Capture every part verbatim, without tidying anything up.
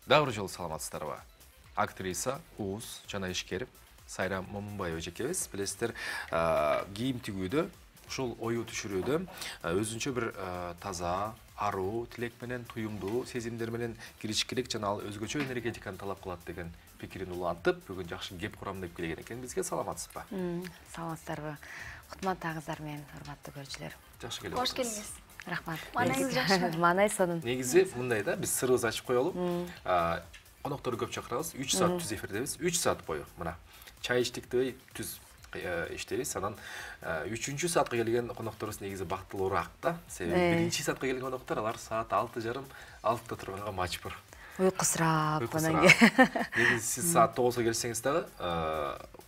Дагы бир жолу саламатсыздарбы? Актриса, уус жана ишкер Сайрам Момунбаева эжекебиз, билесиздер, кийим тигүүдө, ушул ою түшүрүүдө өзүнчө бир таза, аруу, тилек менен, туюмдуу сезимдер менен киришкилик жана ал өзгөчө энергетиканы талап кылат деген пикирин улантып, бүгүн жакшы кеп курам деп келген экен бизге. Саламатсызбы? Саламатсыздарбы? Кутмандагыңыздар менен, урматтуу көрүүчүлөр. Жакшы келип Кош келиңиз. Рахмат. Маанайыңыз жакшыбы? Маанай сонун. Негизи мындай да, биз сырыбызды ачып коелу. Конокторду көп чакырабыз, үч саат түз эфирдебиз, үч саат бою мына чай иштикти түз иштейбиз. Анан үчүнчү саатка келген конокторубуз негизи бактылуураак да. Себеби биринчи саатка келген коноктор алар саат алты жарым, алтыда турганга мажбур. Уйкусурап, анан негизи сиз саат тогузга келсеңиз дагы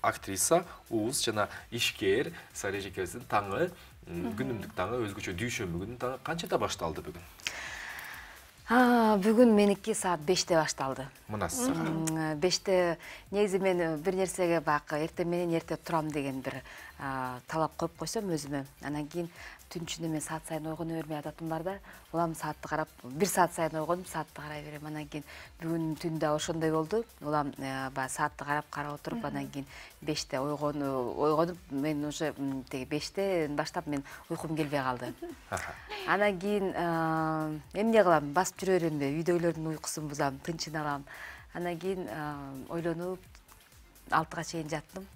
актриса, уус жана ишкер Сайра эжекебиздин таңы, күнүмдүк таңы, өзгөчө дүйшөмбү таңы канчада башталды бүгүн? Бүгүн меники саат беште башталды. Мынасы. беште негизи мен бир нерсеге бак эртең менен эрте турам деген бир талап коюп койсом өзүмө. Анан кийин түн ичинде мен саат сайын ойгоно бермей адатым бар да. Улам саатты карап, бир саат сайын ойгонуп, саатты карай берем. Анан кийин бүгүн түндө ошондой болду. Улам баягы саатты карап карап отуруп, анан кийин беште ойгонуп, ойгонуп, мен уже теги бештен баштап мен уйкум келбей калды. Анан кийин эмне кылам? Басып жүрө беремби? Үйдөгүлөрдүн уйкусун бузам, тынчын алам. Анан кийин ойлонуп алтыга чейин жаттым.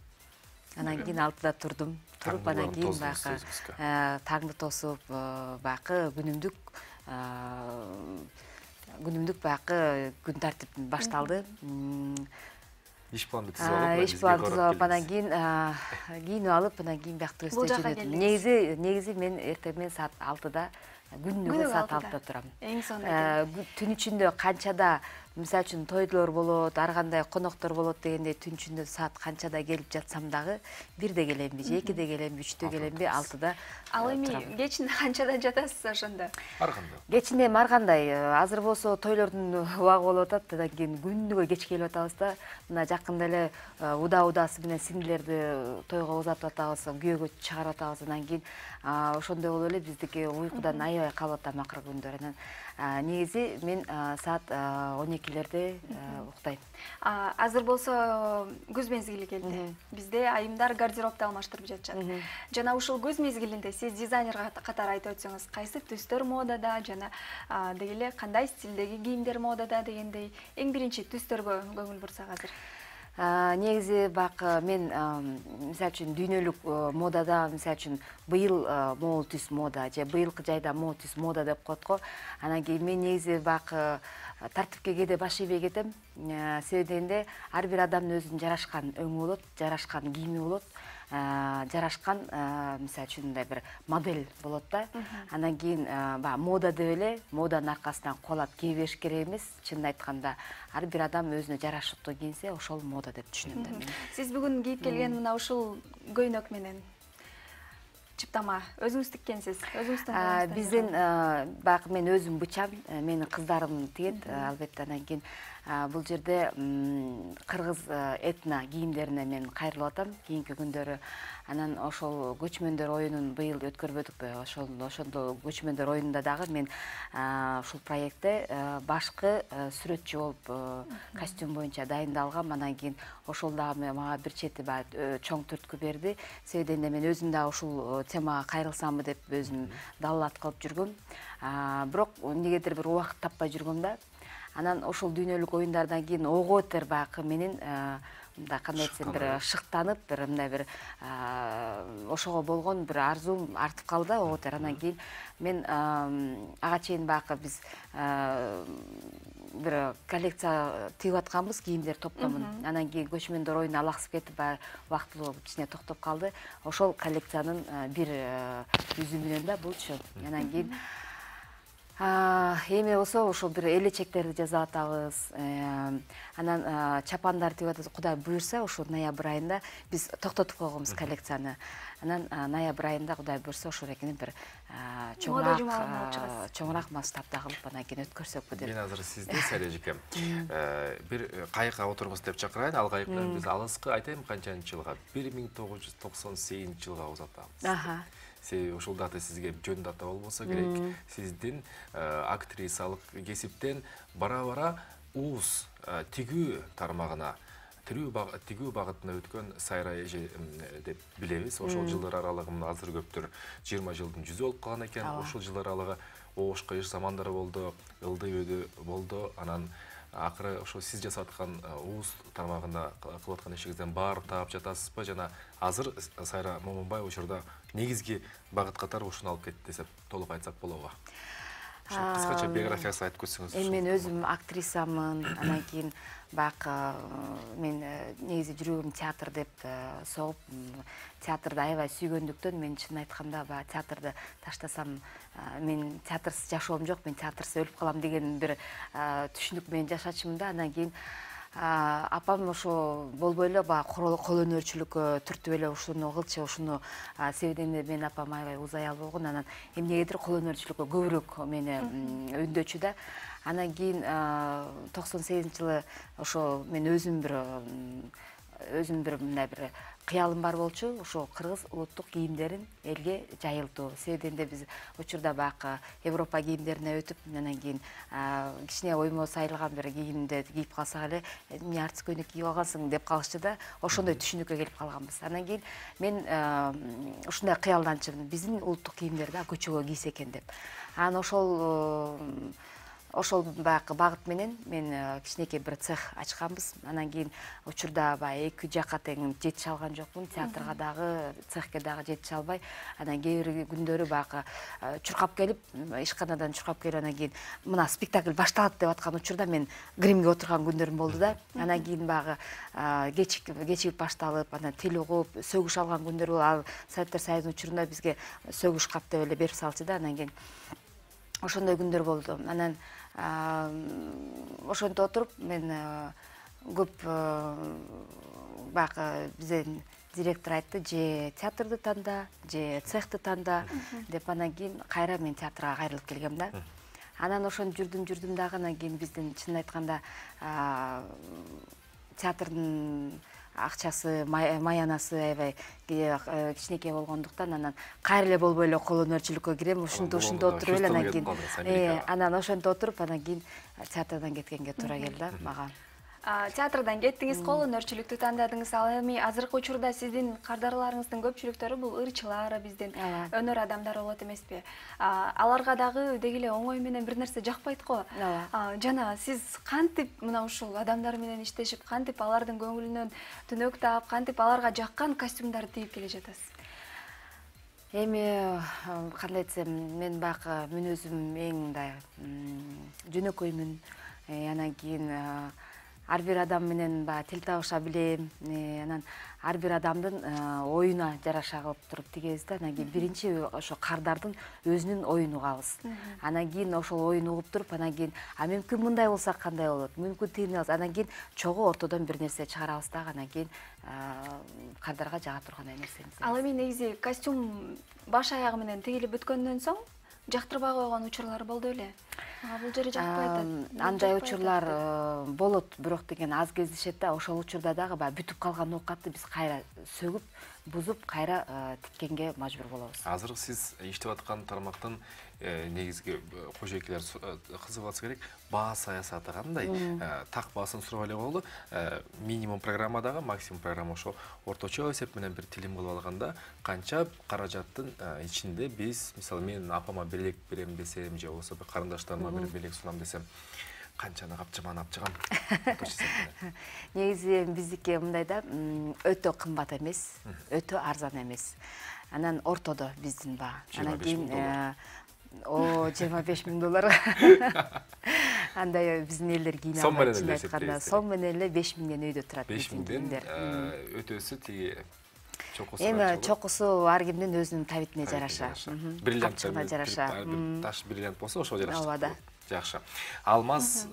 Анан кийин алтыда турдум. Туруп анан кийин баягы таңды тосуп, баягы күнүмдүк күнүмдүк баягы күн тартип башталды. Иш планды түзүп алып, иш планды түзүп алып, анан кийин кийинип алып, анан кийин биякта өстө жөнөдүм. Негизи, негизи мен эртең менен саат алтыда, күнүгө саат алтыда турам. Эң сонун. Түн ичинде канчада, мисалы үчүн тойлор болот, ар кандай коноктор болот дегендей түн ичинде саат канчада келип жатсам дагы бирде келемби, же экиде келемби, үчтө келемби, алтыда. Ал эми кечинде канчада жатасыз ошондо? Ар кандай? Кечинде эми ар кандай. Азыр болсо тойлордун убагы болуп атат, андан кийин күнүгө кеч келип атабыз да. Мына жакында эле уда-удасы менен сиңдилерди тойго узатып атабыз, күйөөгө чыгарып атабыз. Андан кийин ошондой болуп эле биздики уйкудан аябай калып атам акыркы күндөр. Анан негизи мен саат он экилерде уктайм. Азыр болсо күз мезгили келди. Бизде айымдар гардеробду алмаштырып жатышат. Жана ушул күз мезгилинде сиз дизайнер катары айтып өтсөңүз, кайсы түстөр модада жана деги эле кандай стилдеги кийимдер модада дегендей эң биринчи түстөргө көңүл бурсак азыр? Негизи бак мен мисалы үчүн дүйнөлүк модада, мисалы үчүн быйыл могул түс мода же быйылкы жайда могул түс мода деп коет го. Анан кийин мен негизи бак тартипке кээде баш ийбей кетем. Себеби дегенде ар бир адамдын өзүнүн жарашкан өңү болот, жарашкан кийими болот, жарашкан мисалы үчүн мындай бир модель болот да. Анан кийин баягы мода деп эле моданын аркасынан кубалап кие бериш керек эмес. Чынын айтканда ар бир адам өзүнө жарашыктуу кийинсе, ошол мода деп түшүнөм да мен. Сиз бүгүн кийип келген мына ушул көйнөк менен чыптама өзүңүз тиккенсиз, өзүңүздүн биздин баягы мен өзүм бычам, менин кыздарым тигет, албетте. Анан кийин бул жерде кыргыз этно кийимдерине мен кайрылып атам кийинки күндөрү. Анан ошол көчмөндөр оюнун быйыл өткөрбөдүкпү? Ошол ошондо көчмөндөр оюнунда дагы мен ушул проектте башкы сүрөтчү болуп костюм боюнча дайындалгам. Анан кийин ошол дагы мага бир чети чоң түрткү берди. Себеби дегенде мен өзүм дагы ушул темага кайрылсамбы деп өзүм даллат кылып жүргөм. Бирок эмнегедир бир убакыт таппай жүргөм да. Анан ошол дүйнөлүк оюндардан кийин ого бетер баягы менин мындай кандай десем бир шыктанып, бир мындай бир ошого болгон бир арзуум артып калды да ого бетер. Анан кийин мен ага чейин баягы биз бир коллекция тигип атканбыз, кийимдер топтомун. Анан кийин көчмөндөр оюну алаксып кетип, баягы убактылуу кичине токтоп калды. Ошол коллекциянын бир үзүмүнөн да булчу. Анан кийин эми болсо ошол бир элечектерди жасап атабыз. Анан чапандар тигип атабыз. Кудай буйрса, ушул ноябрь айында биз токтотуп койгонбуз коллекцияны. Анан ноябрь айында Кудай буйрса ошол экени бир чоңураак чоңураак масштабда кылып анан кийин өткөрсөкпү деп. Мен азыр сизди Сайра эжекем бир кайыкка отурбуз деп чакырайын. Ал кайык менен биз алыскы айтайын канчанчы жылга? бир миң тогуз жүз токсон сегизинчи жылга узатабыз. Себеби ушул дата сизге жөн дата болбосо керек. Сиздин актрисалык кесиптен бара-бара уус тигүү тармагына тигүү багытына өткөн Сайра эже деп билебиз. Ошол жылдар аралыгында азыр көптөр жыйырма жылдын жүзү болуп калган экен. Ошол жылдар аралыгы оошко иш замандары болду, ылдый өйдө болду. Анан акыры ошо сиз жасап аткан уус тармагында кылып аткан ишиңизден баарын таап жатасызбы? Жана азыр Сайра Момунбаева учурда негизги багыт катары ушуну алып кетти десек толук айтсак болобу? Кыскача биографиясын айтып кетсеңиз. Эми мен өзүм актрисамын, анан кийин баягы мен негизи жүрөгүм театр деп согуп, театрды аябай сүйгөндүктөн мен чын айтканда баягы театрды таштасам, мен театрсыз жашоом жок, мен театрсыз өлүп калам деген бир түшүнүк менен жашачумун да. Анан кийин апам ошо болбой эле баягы кол өнөрчүлүккө түртүп эле ушуну кылчы, ушуну себебинде менин апам аябай уз аял болгон. Анан эмнегедир кол өнөрчүлүккө көбүрөөк мени үндөчү да. Анан кийин токсон сегизинчи жылы ошо мен өзүм бир өзүм бир мындай бир кыялым бар болчу, ошо кыргыз улуттук кийимдерин элге жайылтуу. Себебинде биз учурда баягы Европа кийимдерине өтүп, анан кийин кичине оймо сайылган бир кийимди кийип калсак эле, эмне артист көйнөк кийип алгансың деп калышчу да. Ошондой түшүнүккө келип калганбыз. Анан кийин мен ушундай кыялданчумун, биздин улуттук кийимдерди көчөгө кийсе экен деп. Анан ошол Ошол баягы багыт менен мен кичинекей бир цех ачканбыз. Анан кийин учурда баягы эки жакка тең жетише алган жокмун. Театрга дагы, цехке дагы жетише албай, анан кээ бир күндөрү баягы чуркап келип, ишканадан чуркап келип, анан кийин мына спектакль башталат деп аткан учурда мен гримге отурган күндөрүм болду да. Анан кийин баягы кечигип башталып, анан тил угуп, сөгүш алган күндөр болду. Ал Советтер Союзунун учурунда бизге сөгүш кап деп эле берип салчу да. Анан кийин ошондой күндөр болду. Анан ошентип отуруп мен көп баягы бизден директор айтты, же театрды танда, же цехты танда деп. Анан кийин кайра мен театрга кайрылып келгем да. Анан ошону жүрдүм жүрдүм дагы. Анан кийин биздин чын айтканда театрдын акчасы, маянасы аябай кичинекей болгондуктан анан кайра эле болбой эле кол өнөрчүлүккө кирем, ушунтип ушунтип отуруп эле анан кийин анан ошентип отуруп анан кийин театрдан кеткенге туура келди да мага. Театрдан кеттиңиз, кол өнөрчүлүктү тандадыңыз. Ал эми азыркы учурда сиздин кардарларыңыздын көпчүлүктөрү бул ырчылар, биздин өнөр адамдары болот эмеспи? Аларга дагы деги эле оңой менен бир нерсе жакпайт го. Жана сиз кантип мына ушул адамдар менен иштешип, кантип алардын көңүлүнөн түнөк таап, кантип аларга жаккан костюмдарды тигип келе жатасыз? Эми кандай десем, мен баягы мүнөзүм эң мындай жөнөкөймүн. Анан кийин ар бир адам менен баягы тил табыша билем. Анан ар бир адамдын оюна жараша кылып туруп тигебиз да. Анан кийин биринчи ошо кардардын өзүнүн оюн угабыз. Анан кийин ошол оюн угуп туруп, анан кийин а мүмкүн мындай болсо кандай болот? Мүмкүн тигине болсо, анан кийин чогуу ортодон бир нерсе чыгарабыз дагы. Анан кийин кардарга жага тургандай нерсени. Ал эми негизи костюм баш аягы менен тигилип бүткөндөн соң жактырбай койгон учурлар болду беле? Бул жери жакпай атат. Андай учурлар болот, бирок деген аз кездешет да. Ошол учурда дагы баягы бүтүп калган оокатты биз кайра сөгүп, бузуп, кайра тиккенге мажбур болобуз. Азыр сиз иштеп аткан тармактын негизги кожойкелер кызыгып атса керек. Баа саясаты кандай? Так баасын сурап эле коелу. Минимум программадагы максимум программа ошо орточо эсеп менен бир тилим кылып алганда канча каражаттын ичинде биз, мисалы мен апама белек берем десем, же болбосо бир карындаштарыма бир белек сунам десем, канчаны капчыман апчыгам? Негизи биздики мындай да, өтө кымбат эмес, өтө арзан эмес. Анан ортодо биздин баа. Анан кийин о жыйырма беш миң доллар. Андай биздин элдер кийине албайт, чын айтканда. Сом менен эле беш миңден өйдө турат биздин кийимдер. Өтөсү тиги чокусу. Эми чокусу ар кимдин өзүнүн табитине жараша. Бриллиантына жараша. Таш бриллиант болсо ошо жараша. Ооба да. Жакшы. Алмаз,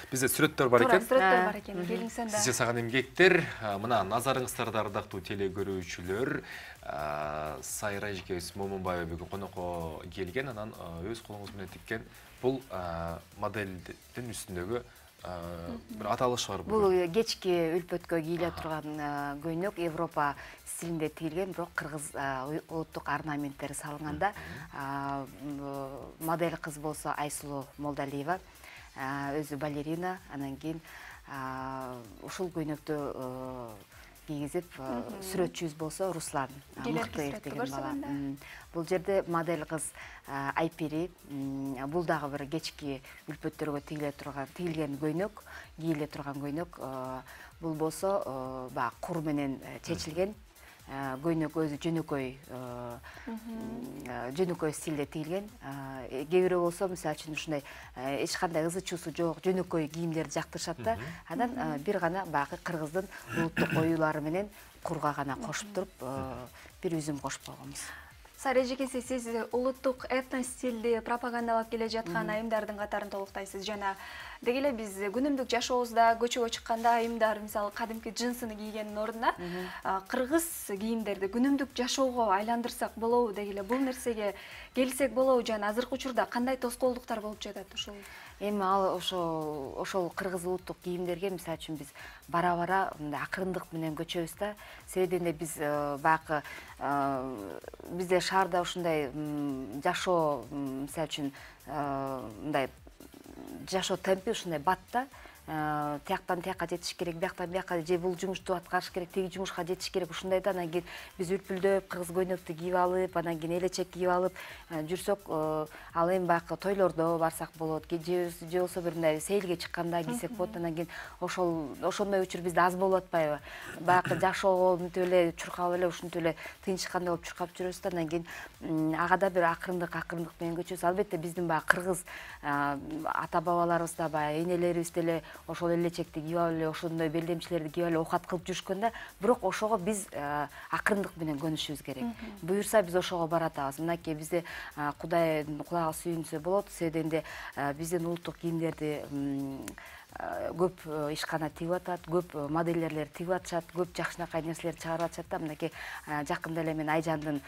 бизде сүрөттөр бар экен. Сүрөттөр бар экен. Келиңсен да. Сиз жасаган эмгектер, мына назарыңыздарда ардактуу теле көрүүчүлөр, Сайра эжекебиз Момунбаева бүгүн конокко келген, анан өз колуңуз менен тиккен бул модельдин үстүндөгү бир аталыш бар. Бул кечки үлпөткө кийиле турган көйнөк Европа стилинде тигилген, бирок кыргыз улуттук орнаменттери салынганда. Модель кыз болсо Айсулуу Молдалиева. өзү балерина, анан кийин ушул көйнөктү кийгизип сүрөтчүбүз болсо Руслан Мыктыев деген бала. Бул жерде модель кыз Айпери, бул дагы бир кечки үлпөттөргө тигиле турган, тигилген көйнөк, кийиле турган көйнөк. Бул болсо баягы кур менен чечилген көйнөк, өзү жөнөкөй жөнөкөй стилде тигилген. Кээ бирөө болсо мисалы үчүн ушундай эч кандай ызы чуусу жок жөнөкөй кийимдерди жактырышат да. Анан бир гана баягы кыргыздын улуттук оюлары менен курга гана кошуп туруп бир үзүм кошуп койгонбуз. Сара эжекеси, сиз улуттук этно стилди пропагандалап келе жаткан айымдардын катарын толуктайсыз. Жана деги эле биз күнүмдүк жашообузда көчөгө чыкканда айымдар мисалы кадимки джинсыны кийгендин ордуна кыргыз кийимдерди күнүмдүк жашоого айландырсак болобу, деги эле бул нерсеге келсек болобу, жана азыркы учурда кандай тоскоолдуктар болуп жатат ушул? Эми ал ошо ошол кыргыз улуттук кийимдерге мисалы үчүн биз бара-бара мындай акырындык менен көчөбүз да. Себеби эле биз баягы бизде шаарда ушундай жашоо мисалы үчүн мындай жашоо темпи ушундай бат да. Тияктан тияка жетиш керек, бияктан бияка, же бул жумушту аткарыш керек, тиги жумушка жетиш керек, ушундай да. Анан кийин биз үлпүлдөп, кыргыз көйнөктү кийип алып, анан кийин элечек кийип алып жүрсөк, ал эми баягы тойлордо барсак болот, же болсо бир мындай сейилге чыкканда кийсек болот. Анан кийин ошол ошондой учур бизде аз болуп атпайбы? Баягы жашоого мынтип эле чуркап эле ушинтип эле тынчыккандай болуп чуркап жүрөбүз да. Анан кийин ага да бир акырындык акырындык менен көчөбүз. Албетте биздин баягы кыргыз ата бабаларыбыз да, баягы энелерибиз деле ошол элечекти кийип алып эле, ошондой белдемчилерди кийип алып оокат кылып жүрүшкөн да. Бирок ошого биз акырындык менен көнүшүбүз керек. Буюрса биз ошого баратабыз. Мынакей бизде Кудай кулагы сүйүнсө болот. Себеби биздин улуттук кийимдерди көп ишкана тигип атат, көп модельерлер тигип атышат, көп жакшынакай нерселерди чыгарып атышат да. Мынакей жакында эле мен Айжандын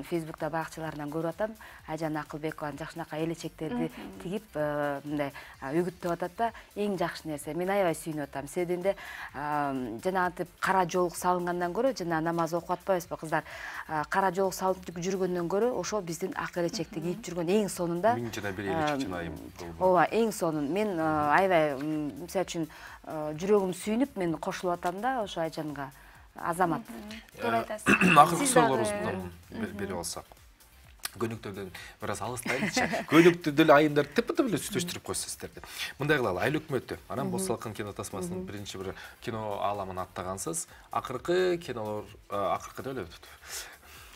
Фейсбукта баракчаларынан көрүп атам. Айжан Акылбекованын жакшынакай элечектерди тигип мындай үгүттөп атат да. Эң жакшы нерсе. Мен аябай сүйүнүп атам. Себеби жанагынтип кара жоолук салынгандан көрө, жана намаз окуп атпайбызбы кыздар? Кара жоолук салып жүргөндөн көрө, ошо биздин ак элечекти кийип жүргөн эң сонунда. Миң жана бир элечек жана айым. Ооба, эң сонун. Мен аябай мисалы үчүн жүрөгүм сүйүнүп мен кошулуп атам да ошо Айжанга. Азамат. Туура айтасыз. Акыркы суроолорубузду берип алсак. Көйнөктөрдөн бир аз алыстайлычы. Көйнөктү деле айымдар тепе-теп эле сүйлөштүрүп койсуздар деп. Мындай кылалы, Айыл өкмөтү, анан Боз салкын кино тасмасынын биринчи бир кино ааламын аттагансыз. Акыркы кинолор, акыркы деле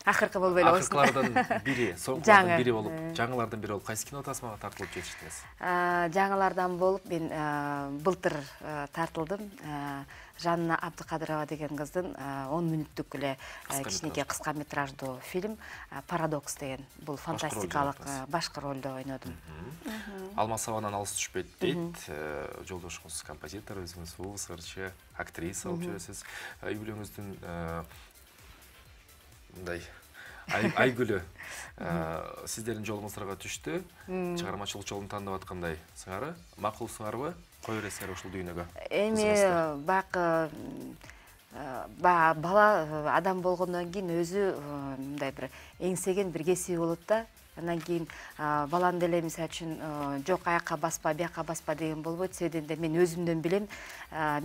Акыркы болбой эле болсун. Акыркылардан бири, соңкулардан бири болуп, жаңылардан бири болуп, кайсы кино тасмага тартылып жетиштиңиз? Жаңылардан болуп мен былтыр тартылдым. Жанна Абдыкадырова деген кыздын он мүнөттүк эле кичинекей кыска метраждуу фильм Парадокс деген. Бул фантастикалык башкы ролдо ойнодум. Алмасованан алыс түшпөйт дейт. Жолдошуңуз композитор, өзүңүз уус ырчы, актриса болуп жүрөсүз. Үй бүлөңүздүн мындай Айгүлү сиздердин жолуңуздарга түштү. Чыгармачылык жолун тандап аткандай сыңары. Макул сыңарбы? Кой бересиңер ушул дүйнөгө? Эми баягы бала адам болгондон кийин өзү мындай бир эңсеген бир кесиби болот да. Андан кийин баланы деле мисалы үчүн жок аякка баспа, бияка баспа деген болбойт. Себеби мен өзүмдөн билем.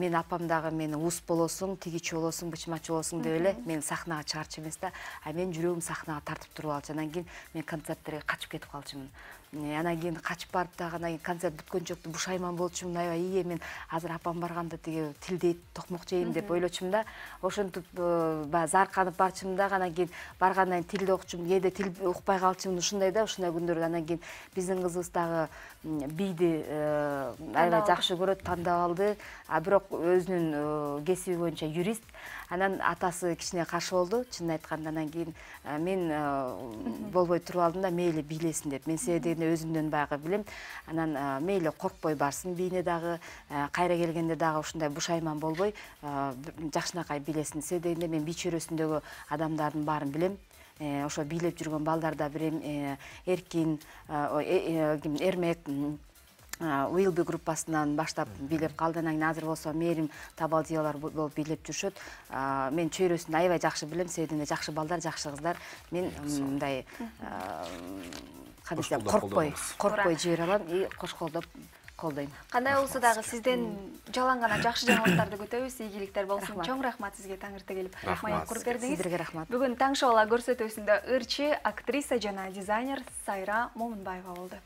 Мен апам дагы мени ус болосуң, тигичи болосуң, бычмачы болосуң деп эле мен сахнага чыгарчу эмес да. А мен жүрөгүм сахнага тартып туруп алчу. Андан кийин мен концерттерге качып кетип калчумун. Анан кийин качып барып дагы анан концерт бүткөнчөктү бушайман болчумун. Аябай ие мен азыр апам барганда тиги тилдейт, токмок жейм деп ойлочумун да. Ошентип баягы зарканып барчумун дагы анан кийин баргандан кийин тилди окучумун, кээде тил укпай калчумун. Ушундай да, ушундай күндөрдө анан кийин биздин кызыбыз дагы бийди аябай жакшы көрөт, тандап алды. А бирок өзүнүн кесиби боюнча юрист. Анан атасы кичине каршы болду, чынын айтканда. Анан кийин мен болбой туруп алдым да, мейли бийлесин деп. Мен себеби өзүмдөн баягы билем. Анан мейли коркпой барсын бийине дагы, кайра келгенде дагы ушундай бушайман болбой жакшынакай бийлесин. Себеби мен бий чөйрөсүндөгү адамдардын баарын билем. Ошо бийлеп жүргөн балдар да билем. Эркин, Эрмек, Уилби группасынан баштап бийлеп калды. Анан кийин азыр болсо Мээрим Табалдиялар болуп бийлеп жүрүшөт. Мен чөйрөсүндө аябай жакшы билем. Себеби жакшы балдар, жакшы кыздар. Мен мындай кадисем коркпой, коркпой жибере алам и кош колдоп колдойм. Кандай болсо дагы сизден жалаң гана жакшы жаңылыктарды күтөбүз. Ийгиликтер болсун. Чоң рахмат сизге Таңыртта келип маек куруп бердиңиз. Сиздерге рахмат. Бүгүн Таң шоу көрсөтүүсүндө ырчы, актриса жана дизайнер Сайра Момунбаева болду.